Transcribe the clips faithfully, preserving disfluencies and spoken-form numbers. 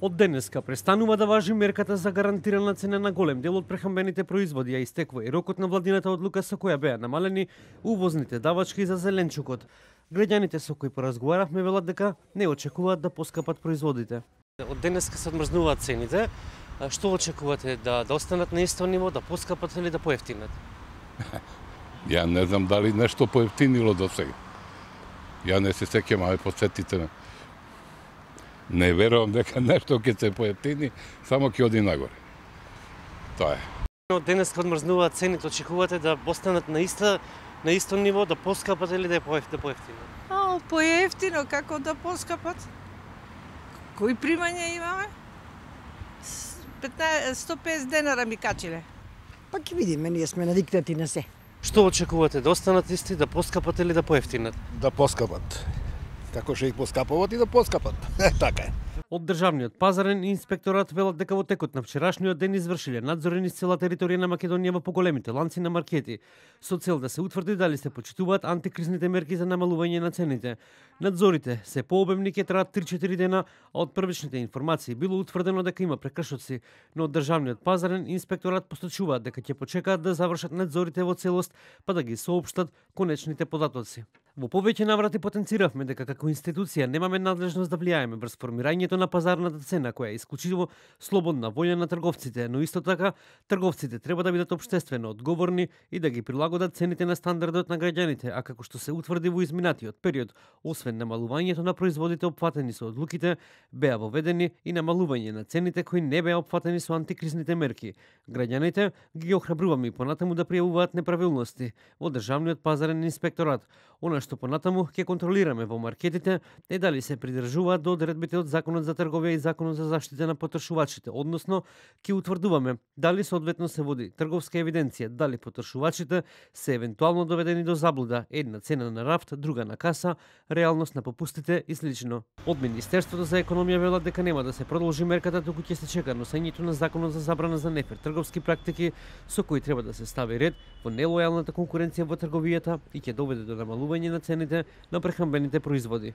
Од денеска престанува да важи мерката за гарантирана цена на голем дел од прехрамбените производи, а истекува и рокот на владината одлука со која беа намалени увозните давачки за зеленчукот. Граѓаните со кои поразговаравме велат дека не очекуваат да поскапат производите. Од денеска се одмрзнуваат цените. Што очекувате, да, да останат на исто ниво, да поскапат или да поевтинат? Ја не знам дали нешто поевтинило до сега. Ја не се сеќам, аме подсетите ме. Не верувам дека нешто ќе се поевтини, само ќе оди нагоре. Тоа е. Од денеска одмрзнуваат цените, очекувате да останат на иста на исто ниво, да поскапат или да поевтинат? А, поевтино, како да поскапат? Кои примања имаме? сто и песет денара ми качиле. Па ќе видиме, ние сме навикнати на се. Што очекувате, да останат исти, да поскапат или да поевтинат? Да поскапат. Како што их поскапуват и да поскапат. Така е. Од Државниот пазарен инспекторат велат дека во текот на вчерашниот ден извршиле надзори низ цела територија на Македонија во поголемите ланци на маркети, со цел да се утврди дали се почитуваат антикризните мерки за намалување на цените. Надзорите се пообемни, ќе траат три-четири дена, а од првичните информации било утврдено дека има прекршоци, но од Државниот пазарен инспекторат посочуваат дека ќе почекаат да завршат надзорите во целост, па да ги соопштат конечните податоци. Во повеќе наврати потенциравме дека како институција немаме надлежност да влијаеме врз формирањето на пазарната цена, која е исклучиво слободна волја на трговците, но исто така трговците треба да бидат општествено одговорни и да ги прилагодат цените на стандардот на граѓаните, а како што се утврди во изминатиот период, освен намалувањето на производите опфатени со одлуките, беа воведени и намалување на цените кои не беа опфатени со антикризните мерки. Граѓаните ги охрабруваме и понатаму да пријавуваат неправилности во Државниот пазарен инспекторат. Она што понатаму ќе контролираме во маркетите е дали се придржуваат до одредбите од Законот за трговија и Законот за заштита на потрошувачите, односно ќе утврдуваме дали соодветно се води трговска евиденција, дали потрошувачите се евентуално доведени до заблуда, една цена на рафт, друга на каса, реалност на попустите и слично. Од Министерството за економија велат дека нема да се продолжи мерката, туку ќе се чека носењето на Законот за забрана за нефер трговски практики, со кои треба да се стави ред во нелојалната конкуренција во трговијата и ќе доведе до намалување на цените на прехрамбените производи.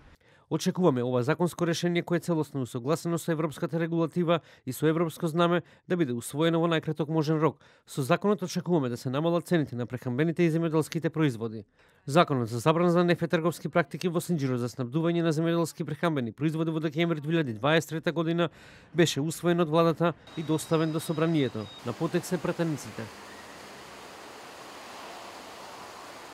Очекуваме ова законско решение кое е целосно усогласено со европската регулатива и со европско знаме да биде усвоено во најкраток можен рок. Со законот очекуваме да се намалат цените на прехрамбените и земјоделските производи. Законот за забрана за нефер трговски практики во Синџиро за снабдување на земјоделски прехрамбени производи во декември две илјади дваесет и трета година беше усвоен од владата и доставен до собранието. На потек се пратениците.